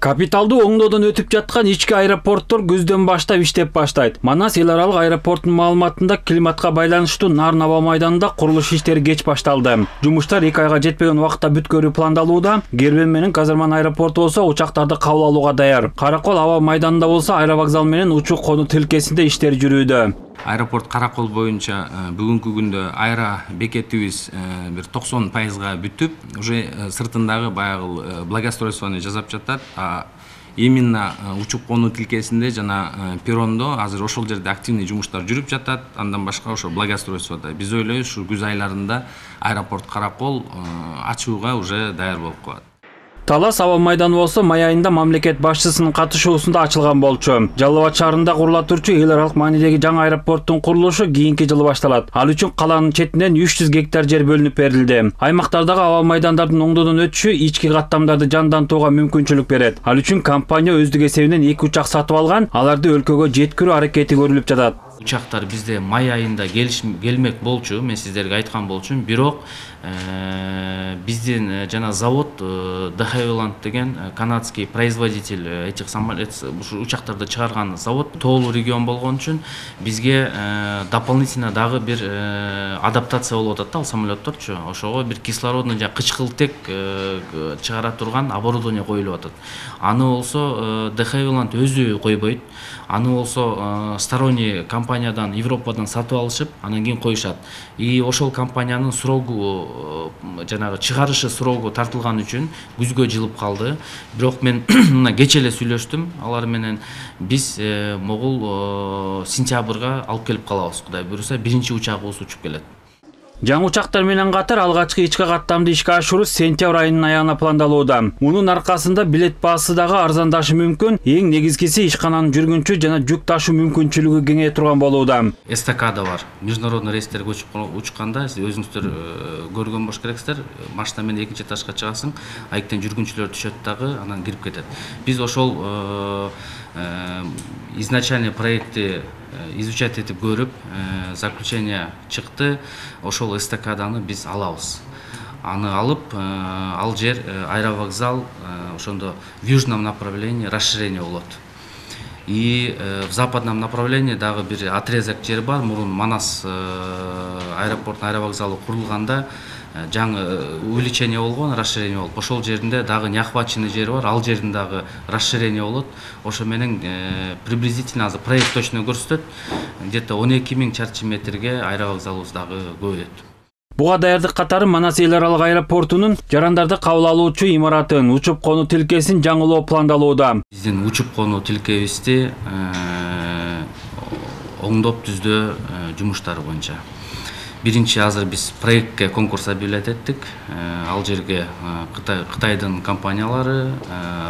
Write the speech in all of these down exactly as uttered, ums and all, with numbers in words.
Капиталдуу оңдоодон өтүп жаткан ички аэропорттор күздөн баштап иштеп баштайт. Манас эл аралык аэропортунун маалыматында климатка байланыштуу Нарын аба майданында курулуш иштери кеч башталды. Жумуштар эки айга жетпеген убакытта бүткөрүү пландалууда. Гербен менен Казарман аэропорту болсо учактарды кабыл алууга даяр. Каракол аба майданында болсо аэровокзал менен учук конуу тилкесинде иштер жүрүүдө. Аэропорт Каракол боюнча бүгүнкү күндө аэро бекетибиз бир токсон пайызга бүтүп, уже сыртындагы баягы благоустройствону жасап жатат. Именно учук конуу тилкесинде жана перрондо азыр ошол жерде активный жумуштар жүрүп жатат. Андан башка ошо благоустройстводо. Биз ойлойбуз, ушу күз айларында аэропорт Каракол ачууга уже даяр болуп калат. Талас аба майданы болсо май айында мамлекет башчысынын катышуусунда ачылган болчу. Жалал Абад шаарында курула турчу эл аралык маанидеги жаңы аэропорттун курулушу кийинки жылы башталат. Ал үчүн каланын четинен үч жүз гектар жер бөлүнүп берилди. Аймактардагы аба майдандардын оңдоодон өтүшү ички каттамдарды жандантууга мүмкүнчүлүк берет. Ал үчүн компания өздүк эсебинен эки учак сатып алган, аларды өлкөгө жеткирүү аракети көрүлүп жатат. Учактар бизде май айында келмек болчу, мен сиздерге айткан болчумун, бирок биздин жана завод дэ хавиланд деген канадский производитель этих самолетов, ушу учактарды чыгарган завод тоолуу регион болгон үчүн бизге дополнительно дагы бир адаптация болуп атат да ал самолетторчу. Ошого бир кислородный жана кычкылтек чыгара турган оборудование коюлуп атат. Аны болсо дэ хавиланд өзү койбойт. Аны болсо сторонний компаниядан, Европадан сатып алышып, анан кийин коюшат. И ошол компаниянын срогу жанагы чыгарышы срогу тартылган үчүн күзгө жылып калды. Бирок мен мына кече эле сүйлөштүм алар менен. Биз могул сентябрга алып келип калабыз, Кудай буйруса, биринчи учагыбыз учуп келет. Жаңы учактар менен катар алгачкы ички каттамды ишке ашыруу сентябрь айынын аягына пландалууда. Мунун аркасында билет баасы дагы арзандашы мүмкүн. Эң негизгиси ишкананын жүргүнчү жана жүк ташуу мүмкүнчүлүгү кеңейе турган болууда. Эстакада бар. Международный рейстерге учканда сиз өзүңүздөр көргөн болуш керексиздер. Машина менен экинчи этажга чыгасың, айыктан жүргүнчүлөр түшөт дагы, анан кирип кетет. Биз ошол изначальный проекти изучать этип көрүп, заключение чыкты. Ошол эстакаданы биз алабыз. Аны алып, ал жер аэровокзал, ошондо в южном направлении расширение болот. И в западном направлении дагы бир отрезок жер бар. Мурун Манас аэропорт аэровокзалы курулганда жаңы увеличение болгон, расширение болуп. Ошол жеринде дагы неохваченный жер бар, ал жердин дагы расширение болот. Ошо менен приблизительно азыр проект точно көрсөтөт. Где-то он эки миң чарчы метрге аэровокзалыбыз дагы көбөйөт. Буга даярдык катары Манас эл аралык аэропортунун жарандарды кабыл алуучу имаратын, учуп конуу тилкесин жаңылоо пландалууда. Биздин учуп конуу тилкебизди оңдоп түздөө жумуштары боюнча. Биринчи азыр биз проектке конкурс объявлять эттик. Ал жерге Кытайдын компаниялары,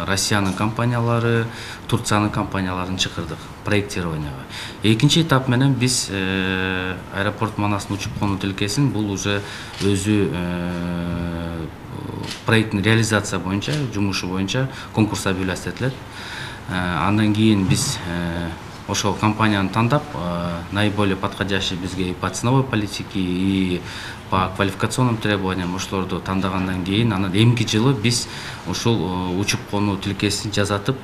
Россиянын компаниялары, Турциянын компанияларын чакырдык проектированияга. Экинчи этап менен биз аэропорт Манастын учуп конуу тилкесин бул уже өзү проекттин реализация боюнча, жумушу боюнча конкурс объявлять этилет. Андан кийин биз ошол компанияны тандап, наиболее подходящий бизге и по ценовой политике, и по квалификационным требованиям ошолорду тандагандан кийин, анан эмки жылы биз ушул учуп конуу тилкесин жасатып,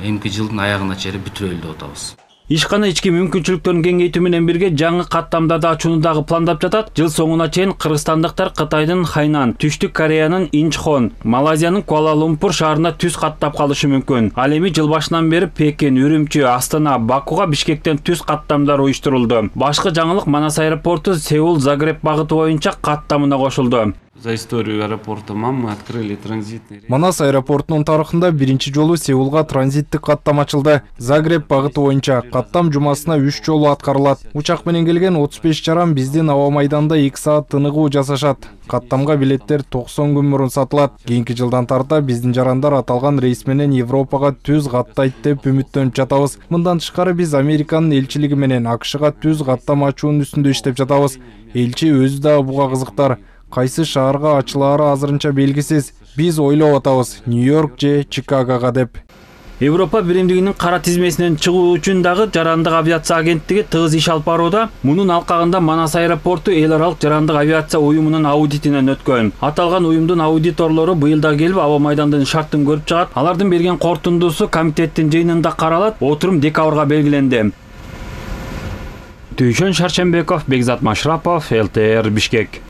эмки жылдын аягына чейин бүтүрөлү деп атабыз. Ишкана ички мүмкүнчүлүктөрүн кеңейтүү менен бирге жаңы каттамдарды ачууну дагы пландап жатат. Жыл соңуна чейин кыргызстандыктар Кытайдын Хайнан, Түштүк Кореянын Инчхон, Малайзиянын Куала-Лумпур шаарына түз каттап калышы мүмкүн. Ал эми жыл башынан бери Пекин, Үрүмчү, Астана, Бакуга Бишкектен түз каттамдар уюштурулду. Башкы жаңылык Манас аэропорту Сеул, Загреб багыты боюнча каттамына кошулду. За историю аэропорта МАМ мы открыли транзитный рейс. Манас аэропортунун тарыхында биринчи жолу Сеулга транзиттик каттам ачылды. Загреб багыты боюнча каттам жумасына үч жолу аткарылат. Учак менен келген отуз беш жаран биздин аба майданда эки саат тыныгуу жасашат. Каттамга билеттер токсон күн мурун сатылат. Кийинки жылдан тарта биздин жарандар аталган рейс менен Европага түз каттайт деп үмүттөнүп жатабыз. Мындан тышкары биз Американын элчилиги менен АКШга түз каттам ачуунун үстүндө иштеп жатабыз. Элчи өзү да буга кызыктар. Кайсы шаарга ачылаары азырынча белгисиз. Биз ойлоп атабыз, Нью-Йорк же Чикагога деп. Европа биримдигинин кара тизмесинен чыгуу үчүн дагы жарандык авиация агенттиги тыгыз иш алып барууда. Мунун алкагында Манас аэропорту эл аралык жарандык авиация уюмунун аудитинен өткөн. Аталган уюмдун аудиторлору быйыл да келип аба майдандын шартын көрүп чыгат. Алардын берген корутундусу комитеттин жыйынында каралат. Отурум декабрга белгиленди. Түйшөн Шаршембеков, Бекзат Машрапов, эл тэ эр Бишкек.